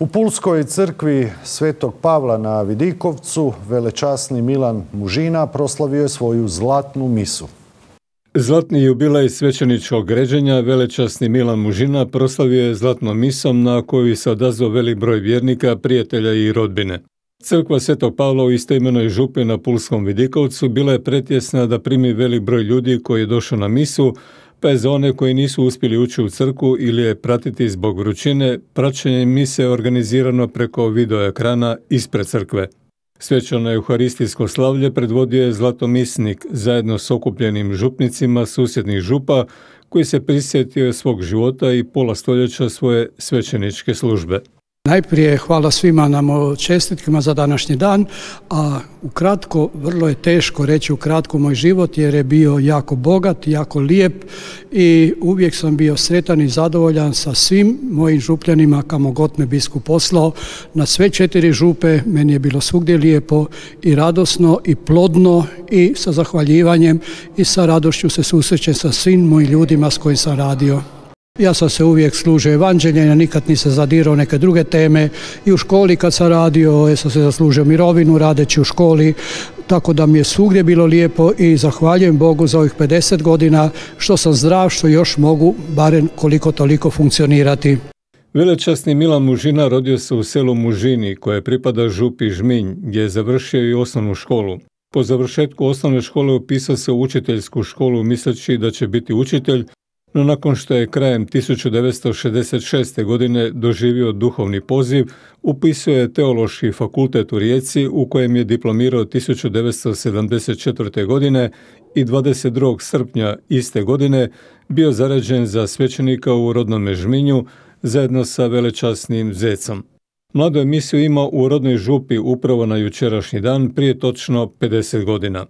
U Pulskoj crkvi Svetog Pavla na Vidikovcu velečasni Milan Mužina proslavio je svoju zlatnu misu. Zlatni jubilej svećeničkog ređenja velečasni Milan Mužina proslavio je zlatnom misom na koju se odazvao velik broj vjernika, prijatelja i rodbine. Crkva Svetog Pavla u istoimenoj župi na Pulskom Vidikovcu bila je pretjesna da primi velik broj ljudi koji je došao na misu, pa je za one koji nisu uspjeli ući u crkvu ili je pratiti zbog vrućine, praćenje mise organizirano preko video ekrana ispred crkve. Svečano euharistijsko slavlje predvodio je zlatomisnik zajedno s okupljenim župnicima susjednih župa koji se prisjetio svog života i pola stoljeća svoje svećeničke službe. Najprije hvala svima nam čestitkama za današnji dan, a ukratko, vrlo je teško reći ukratko moj život jer je bio jako bogat, jako lijep i uvijek sam bio sretan i zadovoljan sa svim mojim župljanima kamo god me biskup poslao. Na sve 4 župe meni je bilo svugdje lijepo i radosno i plodno i sa zahvaljivanjem i sa radošću se susrećem sa svim mojim ljudima s kojim sam radio. Ja sam se uvijek služio evanđeljem, nikad nisam zadirao neke druge teme i u školi kad sam radio, ja sam se zaslužio mirovinu radeći u školi, tako da mi je svugdje bilo lijepo i zahvaljujem Bogu za ovih 50 godina što sam zdrav, što još mogu barem koliko toliko funkcionirati. Velečasni Milan Mužina rodio se u selu Mužini koje pripada župi Žminj gdje je završio i osnovnu školu. Po završetku osnovne škole upisao se u učiteljsku školu misleći da će biti učitelj, no nakon što je krajem 1966. godine doživio duhovni poziv, upisao je Teološki fakultet u Rijeci u kojem je diplomirao 1974. godine i 22. srpnja iste godine bio zaređen za svećenika u rodnome Žminju zajedno sa velečasnim Zecom. Mladu je misiju imao u rodnoj župi upravo na jučerašnji dan prije točno 50 godina.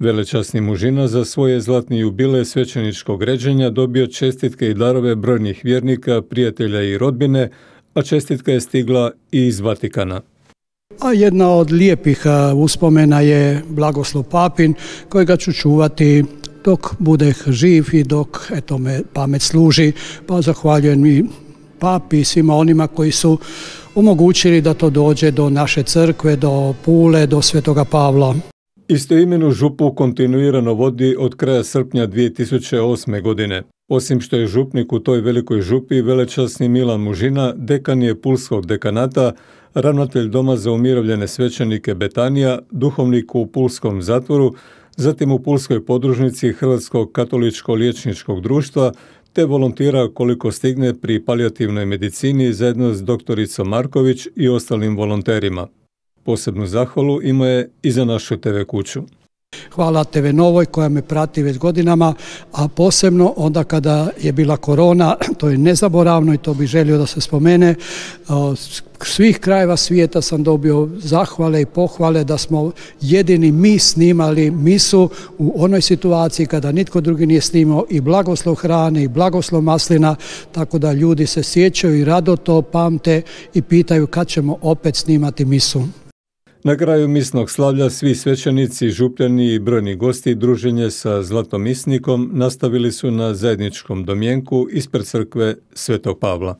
Velečasni Mužina za svoje zlatni jubilej svećeničkog ređenja dobio čestitke i darove brojnih vjernika, prijatelja i rodbine, a čestitka je stigla i iz Vatikana. A jedna od lijepih uspomena je blagoslov papin kojega ću čuvati dok bude živ i dok me pamet služi, pa zahvaljujem i papi i svima onima koji su omogućili da to dođe do naše crkve, do Pule, do Svetoga Pavla. Istoimenu župu kontinuirano vodi od kraja srpnja 2008. godine. Osim što je župnik u toj velikoj župi, velečasni Milan Mužina dekan je Pulskog dekanata, ravnatelj Doma za umirovljene svećenike Betanija, duhovnik u Pulskom zatvoru, zatim u Pulskoj podružnici Hrvatskog katoličko-liječničkog društva, te volontira koliko stigne pri palijativnoj medicini zajedno s doktoricom Marković i ostalim volonterima. Posebnu zahvalu ima je i za našu TV kuću. Hvala TV Novoj koja me prati već godinama, a posebno onda kada je bila korona, to je nezaboravno i to bih želio da se spomene. Svih krajeva svijeta sam dobio zahvale i pohvale da smo jedini mi snimali misu u onoj situaciji kada nitko drugi nije snimao i blagoslov hrane i blagoslov maslina, tako da ljudi se sjećaju i rado to pamte i pitaju kad ćemo opet snimati misu. Na kraju misnog slavlja svi svećenici, župljani i brojni gosti druženje sa zlatomisnikom nastavili su na zajedničkom domjenku ispred crkve Svetog Pavla.